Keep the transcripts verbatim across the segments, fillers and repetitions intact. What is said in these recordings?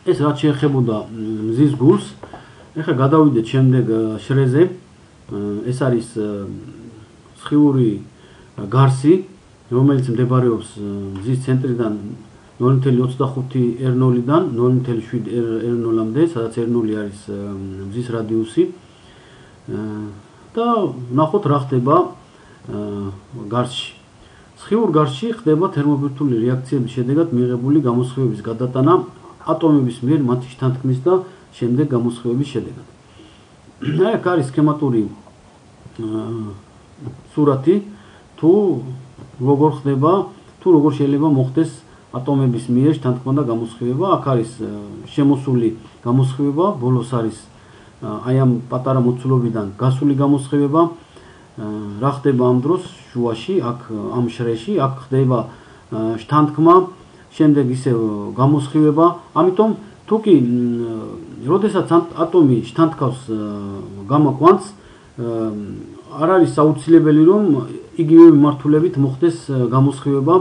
ეს რაც შეეხებოდა მზის გულს, ეხლა გადავიდეთ შემდეგ შრეზე. ეს არის სხიური გარსი, რომელიც მდებარეობს მზის ცენტრიდან ნული ოცდაოთხ R nul-დან ნული შვიდ R nul-მდე, სადაც R nul არის მზის რადიუსი. და ნახოთ რა ხდება გარსში. სხიურ გარსში ხდება თერმობირთული რეაქციების შედეგად მიღებული გამოსხივების გადატანა ატომების მიერ მათი შთანთქმის და შემდეგ გამოსხივების შედეგად. აქ არის სქემატური სურათი, თუ როგორ ხდება, თუ როგორ შეიძლება მოხდეს ატომების მიერ შთანთქმა და გამოსხივება. აქ არის შემოსული გამოსხივება, ბოლოს არის აი ამ პატარა მოცულობიდან გასული გამოსხივება. რა ხდება ამ დროს შუაში, აქ ამ შრეში, აქ ხდება შთანთქმა, შემდეგ ისევ გამოსხივება. ამიტომ თუ კი როდესაც ატომი შთანთქავს გამა კვანტს, არ არის აუცილებელი რომ იგივე მიმართულებით მოხდეს გამოსხივება,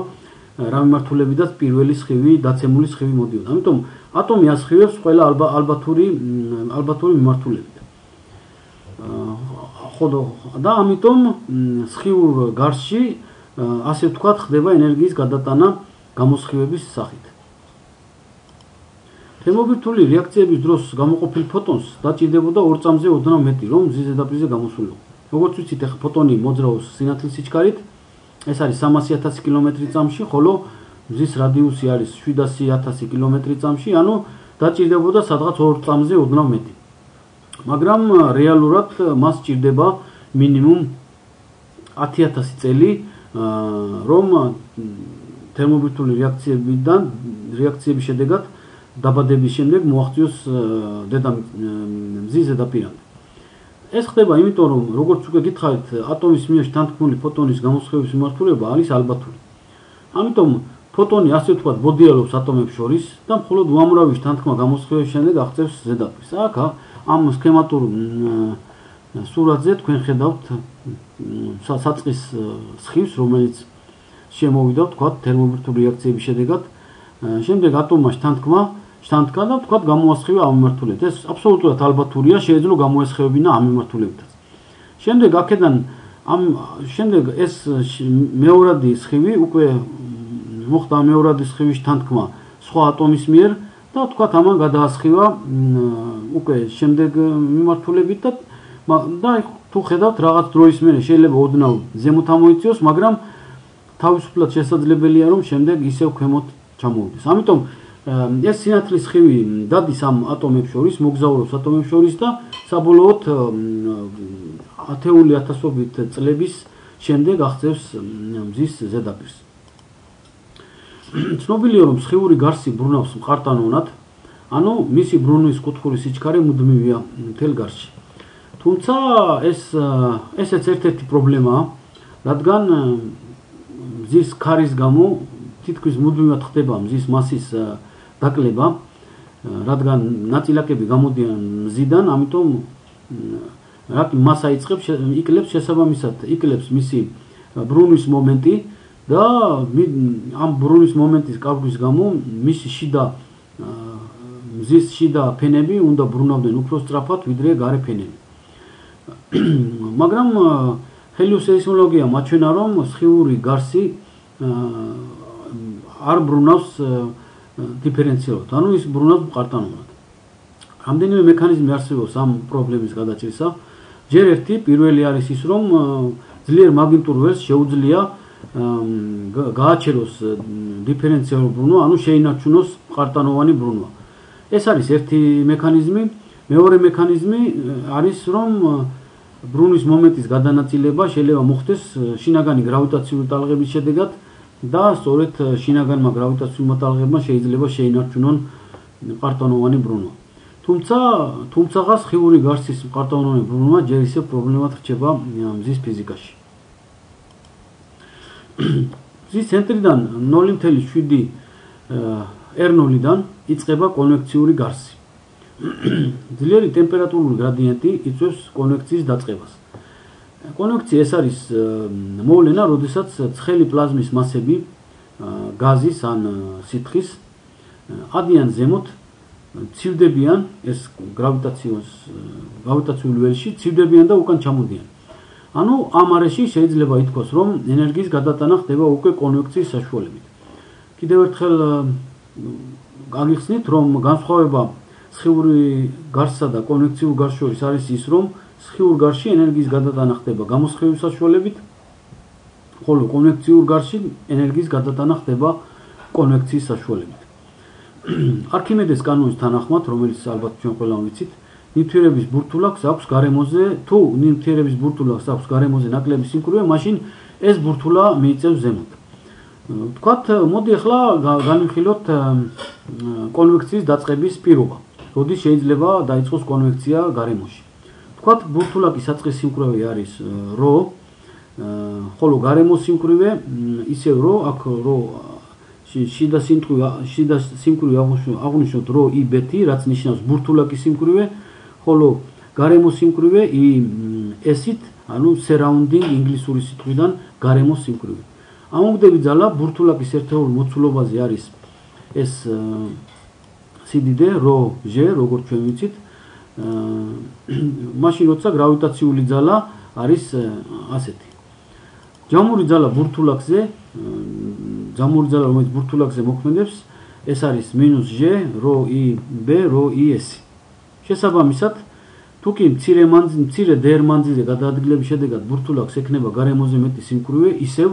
რა მიმართულებიდანაც პირველი სხივი, დაცემული სხივი მოდიოდა. ამიტომ ატომი ასხივებს ყველა ალბათური ალბათური მიმართულებით. ხოდო და ამიტომ სხიურ გარსში ასე ვთქვათ ხდება ენერგიის გადატანა გამოსხივების სახით. თერმობირთული რეაქციების დროს გამოყოფილ ფოტონს დაჭირდებოდა ორ წამზე ოდნავ მეტი, რომ მზის ზედაპირზე გამოსულიყო. როგორც ვიცით, ახლა ფოტონი მოძრაობს სინათლის სიჩქარით, ეს არის სამასი ათასი კილომეტრი წამში, ხოლო მზის რადიუსი არის შვიდასი ათასი კილომეტრი წამში, ანუ დაჭირდებოდა სადღაც ორ წამზე ოდნავ მეტი. მაგრამ რეალურად მას ჭირდება მინიმუმ ათი ათასი წელი, რომ თერმობირთული რეაქციებიდან რეაქციების შედეგად დაბადების შემდეგ მოაღწიოს მზის ზედაპირამდე. ეს ხდება იმიტომ, რომ როგორც უკვე გითხარით, ატომის მიერ შთანთქმული ფოტონის გამოსხივების მიმართულება არის ალბათური. ამიტომ ფოტონი ასე ვთქვათ ბოდიალობს ატომებს შორის და მხოლოდ უამრავი შთანთქმა გამოსხივების შემდეგ აღწევს ზედაპირს. აქ ამ სქემატურ სურათზე თქვენ ხედავთ საწყის სხივს, რომელიც შემოვიდა ვთქვათ თერმობირთული რეაქციების შედეგად. შემდეგ ატომმა შთანთქმა შთანთქა და ვთქვათ გამოასხივა ამ მიმართულებით. ეს აბსოლუტურად ალბათურია, შეიძლება გამოესხევებინა ამ მიმართულებითაც. შემდეგ აქედან ამ შემდეგ ეს მეორადი სხივი უკვე მოხდა მეორადი სხივის შთანთქმა სხვა ატომის მიერ და ვთქვათ ამან გადაასხივა უკვე შემდეგ მიმართულებით და და თუ ხედავთ რაღაც დროის მერე შეიძლება ოდნავ ზემოთ ამოიწიოს, მაგრამ თავისუფლად შესაძლებელია რომ შემდეგ ისევ ქვემოთ ჩამოვიდეს. ამიტომ ეს სინათლის სხივი დადის ამ ატომებს შორის, მოგზაურობს ატომებს შორის და საბოლოოდ ათეული ათასობით წლების შემდეგ აღწევს მზის ზედაპირს. ცნობილია რომ სხიური გარსი ბრუნავს მყარ-ტანოვნად, ანუ მისი ბრუნვის კუთხური სიჩქარე მუდმივია მთელ გარსში. თუმცა ეს ესეც ერთ-ერთი პრობლემაა, რადგან მზის ქარის გამო თითქმის მუდმივად ხდება მზის მასის დაკლება, რადგან ნაწილაკები გამოდიან მზიდან, ამიტომ რა მასა იწყებს იკლებს შესაბამისად იკლებს მისი ბრუნვის მომენტი და ამ ბრუნვის მომენტის კარგვის გამო მისი შიდა მზის შიდა ფენები უნდა ბრუნავდნენ უფრო სწრაფად ვიდრე გარე ფენები. მაგრამ ჰელიოსეისმოლოგიამ აჩვენა რომ სხიური გარსი არ ბრუნავს დიფერენციალურად, ანუ ის ბრუნავს მყარ-ტანოვნად. რამდენიმე მექანიზმი არსებობს ამ პრობლემის გადაჭრისა. ჯერ ერთი პირველი არის ის, რომ ძლიერ მაგნიტურ ველს შეუძლია გააჩეროს დიფერენციალური ბრუნვა, ანუ შეინარჩუნოს მყარ-ტანოვანი ბრუნვა. ეს არის ერთი მექანიზმი. მეორე მექანიზმი არის, რომ ბრუნვის მომენტის გადანაწილება შეიძლება მოხდეს შინაგანი გრავიტაციული ტალღების შედეგად და სწორედ შინაგანმა გრავიტაციულმა ტალღებმა შეიძლება შეინარჩუნონ მყარ-ტანოვანი ბრუნვა. თუმცა თუმცაღა სხიური გარსის მყარ-ტანოვანი ბრუნვა ჯერ ისევ პრობლემად რჩება მზის ფიზიკაში. მზის ცენტრიდან ნული შვიდ R nul-დან იწყება კონვექციური გარსი. ძლიერი ტემპერატურული გრადიენტი იწვევს კონვექციის დაწყებას. კონვექცია ეს არის მოვლენა, როდესაც ცხელი პლაზმის მასები გაზის ან სითხის ადიან ზემოთ ცივდებიან ეს გრავიტაციოს გრავიტაციული ველში ცივდებიან და უკან ჩამოდიან. ანუ ამ არეში შეიძლება ითქვას, რომ ენერგიის გადატანა ხდება უკვე კონვექციის საშუალებით. კიდევ ერთხელ გაგიხსნით, რომ განსხვავება სხიური გარსსა და კონვექციურ გარს შორის არის ის, რომ სხიურ გარში ენერგიის გადატანა ხდება გამოსხივების საშუალებით, ხოლო კონვექციურ გარში ენერგიის გადატანა ხდება კონვექციის საშუალებით. არქიმედეს კანონის თანახმად, რომელიც ალბათ ჩვენ ყველამ ვიცით, ნივთიერების ბურთულაკს აქვს გარემოზე, თუ ნივთიერების ბურთულაკს აქვს გარემოზე ნაკლები სიმკვრივე, მაშინ ეს ბურთულა მიიწევს ზემოთ. ვთქვათ, მოდი ახლა განვიხილოთ კონვექციის დაწყების პირობა. როდის შეიძლება დაიწყოს კონვექცია გარემოში. ვთქვათ, ბურთულაკის საწყის სიმკვრივე არის რho, ხოლო გარემოს სიმკვრივე ისევ რho, აქ რho შიდა სიმკვრივე შიდა სიმკვრივე აღვნიშნოთ რho i bet, რაც ნიშნავს ბურთულაკის სიმკვრივე, ხოლო გარემოს სიმკვრივე i s-ით, ანუ surrounding ინგლისური სიტყვიდან გარემოს სიმკვრივე. ამომგდები ძალა ბურთულაკის ერთეულ მოცულობაზე არის ეს სიდიდე რho g, როგორც ჩვენ ვიცით. მაშინ როცა გრავიტაციული ძალა არის ასეთი. ჯამური ძალა ბურთულაკზე, ჯამური ძალა რომელიც ბურთულაკზე მოქმედებს, ეს არის მინუს g რho i b რho i s. შესაბამისად, თუ კი მცირე მანძილზე, მცირე დერ მანძილზე გადაადგილების შედეგად ბურთულაკს ექნება გარემოზე მეტი სიმკვრივე, ისევ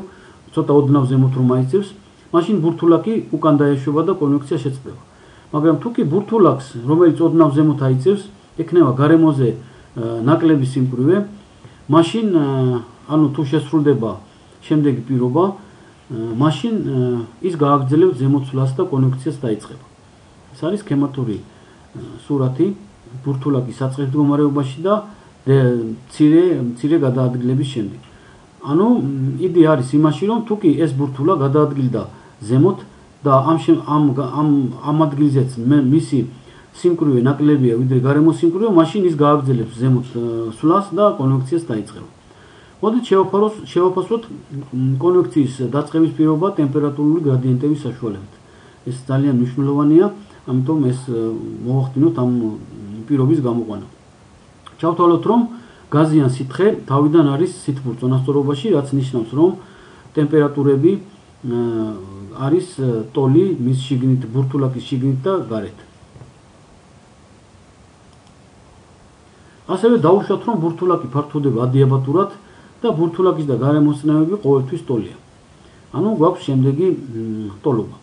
ცოტა ოდნავ ზემოთ რომ აიწევს, მაშინ ბურთულაკი უკან დაეშვება და კონვექცია შეწყდება. მაგრამ თუ კი ბურთულაკს, რომელიც ოდნავ ზემოთ აიწევს, ექნება გარემოზე ნაკლები სიმკვრივე, მაშინ ანუ თუ შესრულდება შემდეგი პირობა, მაშინ ის გააგრძელებს ზემოცვლას და კონვექციას დაიწყება. ეს არის სქემატური სურათი ბურთულაკის საწყის მდგომარეობაში და მცირე მცირე გადაადგილების შემდეგ. ანუ იდეა არის იმაში, რომ თუ კი ეს ბურთულა გადაადგილდა ზემოთ და ამ ამ ამ ამ ადგილზეც მისი სიმკვრივე ნაკლებია ვიდრე გარემოს სიმკვრივე, მაშინ ის გააგრძელებს ზემოთ სვლას და კონვექციას დაიწყება. მოდით შევაფასოთ კონვექციის დაწყების პირობა ტემპერატურული გრადიენტების საშუალებით. ეს ძალიან მნიშვნელოვანია, ამიტომ ეს მოვახდინოთ ამ პირობის გამოყვანა. ჩავთვალოთ, რომ გაზი ან სითხე თავიდან არის სითბურ წონასწორობაში, რაც ნიშნავს, რომ ტემპერატურები არის ტოლი მის შიგნით, ბურთულაკის შიგნით და გარეთ. ასევე დაუშვათ, რომ ბურთულაკი ფართოვდება ადიაბატურად და ბურთულაკის და გარემოს წნევები ყოველთვის ტოლია. ანუ გვაქვს შემდეგი ტოლობა.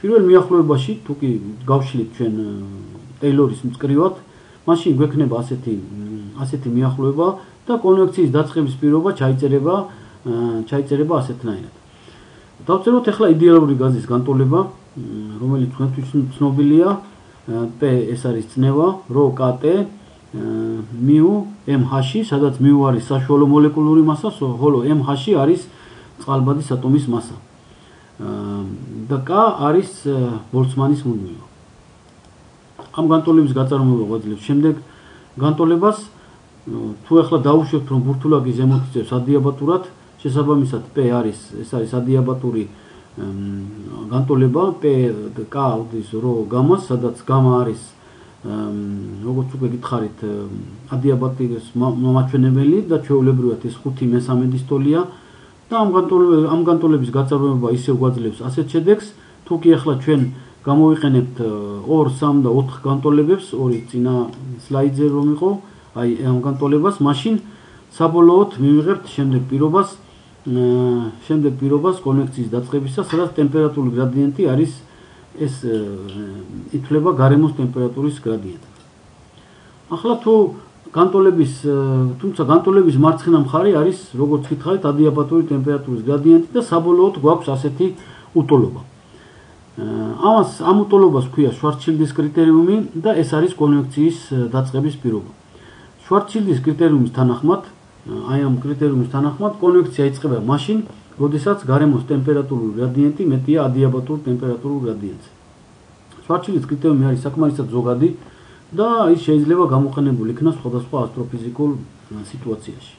პირველ მიახლოებაში, თუ კი გავშლით ჩვენ ტეილორის მწკრივად, მაშინ გვექნება ასეთი ასეთი მიახლოება და კონვექციის დაწყების პირობა ჩაიწერება ჩაიწერება ასეთნაირად. დავწეროთ ახლა იდეალური გაზის განტოლება, რომელიც თქვენთვის ცნობილია, P ეს არის წნევა, რho kt mu mh, სადაც mu არის საშუალო მოლეკულური მასა, ხოლო mh არის წყალბადის ატომის მასა. და k არის ბოლცმანის მუდმივა. ამ განტოლების გაწარმოება გვაძლევს შემდეგ განტოლებას, თუ ახლა დავუშვებთ, რომ ბურთულაკი ზემოთ იწევს ადიაბატურად, შესაბამისად P არის ეს არის ადიაბატური განტოლება, P k უდის რho გამას, სადაც გამა არის როგორც უკვე გითხარით ადიაბატის მომაჩვენებელი და ჩვეულებრივად ეს ხუთი მესამედის ტოლია და ამ განტოლების ამ განტოლების გაწარმოება ისევ გვაძლევს ასეთ შედეგს, თუ კი ახლა ჩვენ გამოვიყენებთ ორ, სამ და ოთხ განტოლებებს, ორი წინა სლაიდზე რომ იყო, აი ამ განტოლებას, მაშინ საბოლოოდ მივიღებთ შემდეგ პირობას, შემდეგ პირობას კონვექციის დაწყებისა, სადაც ტემპერატურული გრადიენტი არის ეს ითვლება გარემოს ტემპერატურის გრადიენტად. ახლა თუ განტოლების, თუმცა განტოლების მარცხენა მხარე არის, როგორც გითხარით, ადიაბატური ტემპერატურის გრადიენტი და საბოლოოდ გვაქვს ასეთი უტოლობა. ამას ამ უტოლობას ჰქვია შვარცშილდის კრიტერიუმი და ეს არის კონვექციის დაწყების პირობა. შვარცშილდის კრიტერიუმის თანახმად, აი ამ კრიტერიუმის თანახმად კონვექცია იწყება მაშინ, როდესაც გარემოს ტემპერატურული გრადიენტი მეტია ადიაბატურ ტემპერატურულ გრადიენტზე. შვარცშილდის კრიტერიუმი არის საკმარისად ზოგადი და ის შეიძლება გამოყენებულ იქნას სხვადასხვა ასტროფიზიკულ სიტუაციაში.